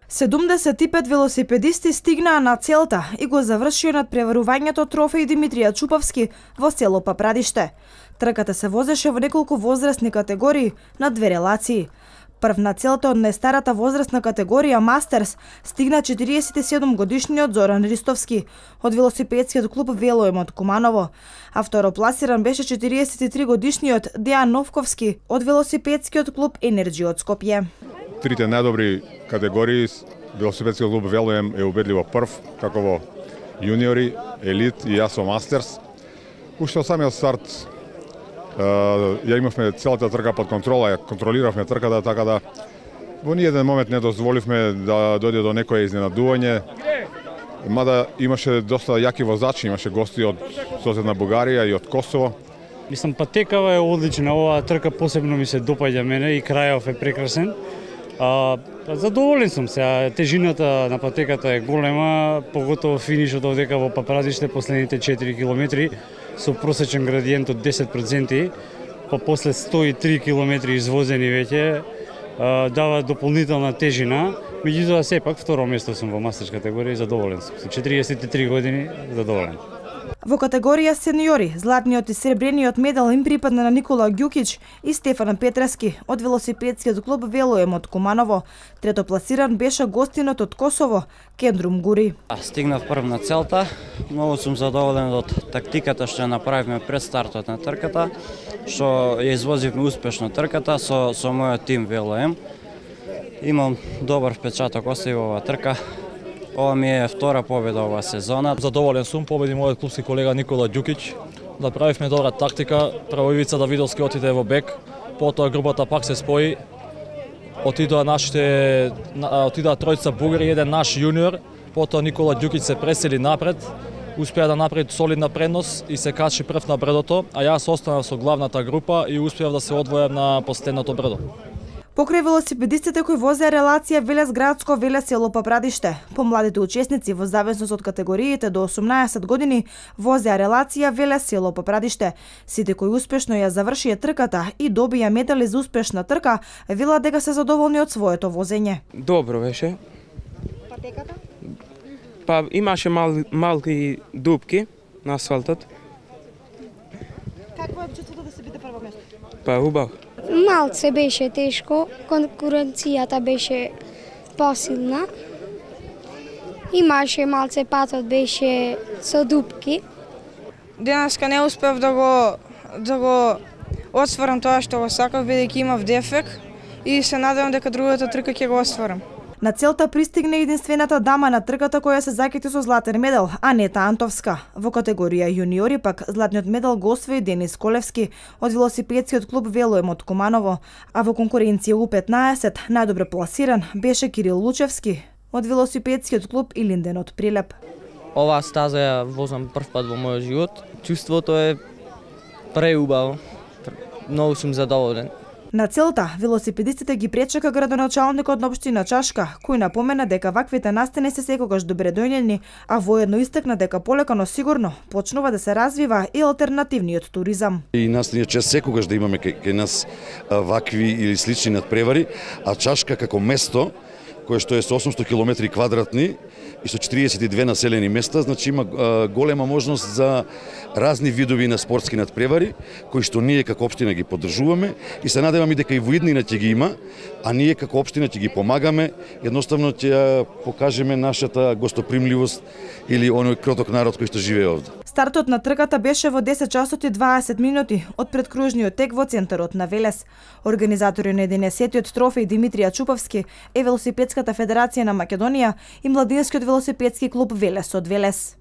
75 велосипедисти стигнаа на целта и го завршија надпреварувањето трофеј Димитрија Чуповски во село Папрадиште. Трката се возеше во неколку возрастни категории на две релации. Прв на целта од најстарата возрастна категорија Мастерс стигна 47 годишниот Зоран Ристовски од велосипедскиот клуб Велоем од Куманово, а второпласиран беше 43 годишниот Дејан Новковски од велосипедскиот клуб Енерджи од Скопје. Трите најдобри категории велосипедскиот клуб Велоем е убедливо прв, како во јуниори, елит и јас во Мастерс. Уште од самиот старт ја имавме целата трка под контрола, ја контролиравме трката, така да во ниеден момент не дозволивме да дојде до некое изненадување. Мада имаше доста јаки возачи, имаше гости од соседна Бугарија и од Косово. Мислам, патекава е одлична, оваа трка посебно ми се допаѓа мене и крајов е прекрасен. Задоволен сум се, тежината на патеката е голема, поготово финишот овдека во Папрадиште последните 4 километри со просечен градиент од 10%, па после 103 километри извозени веќе, дава дополнителна тежина. Меѓутоа сепак второ место сум во мастерс категорија и задоволен сум. Со 43 години задоволен. Во категорија сениори, златниот и сребрениот медал им припадна на Никола Ѓукич и Стефан Петраски од велосипедскиот клуб Велоем од Куманово. Третопласиран беше гостинот од Косово, Кендрум Гури. Стигнав прв на целта. Многу сум задоволен од тактиката што ја направивме пред стартот на трката, што ја извозивме успешно трката со мојот тим Велоем. Имам добар впечаток остави оваа трка. Ова ми е втора победа оваа сезона. Задоволен сум, победи мојот клубски колега Никола Ѓукич. Направивме добра тактика, прво Ивица Давидовски отиде во бек, потоа групата пак се спои. Отидоа тројца бугари, еден наш јуниор, потоа Никола Ѓукич се пресели напред, успеа да направи солидна предност и се качи прв на бредото, а јас останав со главната група и успеав да се одвојам на последното бредо. Покрај велосипедистите кои возеа релација Велес градско Велес село Папрадиште, помладите учесници во зависност од категориите до 18 години возеа релација Велес село Папрадиште. Сите кои успешно ја завршија трката и добија медали за успешна трка, велат дека се задоволни од своето возење. Добро беше. Патеката? Па имаше малки дупки на асфалтот. Какво е чувството да се биде прво место? Па убаво. Малце беше тешко, конкуренцијата беше посилна. Имаше малце патот беше со дупки. Денеска не успев да го отстварам тоа што го сакав, бидејќи имав дефект и се надевам дека другата трка ќе го остварам. На целта пристигне единствената дама на трката која се закити со златен медал, Анета Антовска. Во категорија јуниори пак златниот медал го освои Денис Колевски од велосипедскиот клуб Велоем од Куманово, а во конкуренција У15 најдобро пласиран беше Кирил Лучевски од велосипедскиот клуб Илинден од Прилеп. Оваа стаза ја возам прв пат во мојот живот. Чувството е преубаво. Многу сум задоволен. На целта, велосипедистите ги пречека градоначалникот на општина Чашка, кој напомена дека ваквите настани се секогаш добре дојдени, а воедно истакна дека полека но сигурно почнува да се развива и алтернативниот туризам. И нас ни е чест секогаш да имаме кај нас вакви или слични надпревари, а Чашка како место кое што е со 800 километри квадратни и со 42 населени места, значи има голема можност за разни видови на спортски надпревари, кои што ние како општина ги поддржуваме и се надеваме дека и во иднина ќе ги има, а ние како општина ќе ги помагаме, едноставно ќе покажеме нашата гостопримливост или оној кроток народ кој што живее овде. Стартот на трката беше во 10 часот и 20 минути од предкружниот тек во центарот на Велес. Организатори на 11-тиот трофеј Димитрија Чуповски е Велосипедската федерација на Македонија и Младинскиот велосипедски клуб Велес од Велес.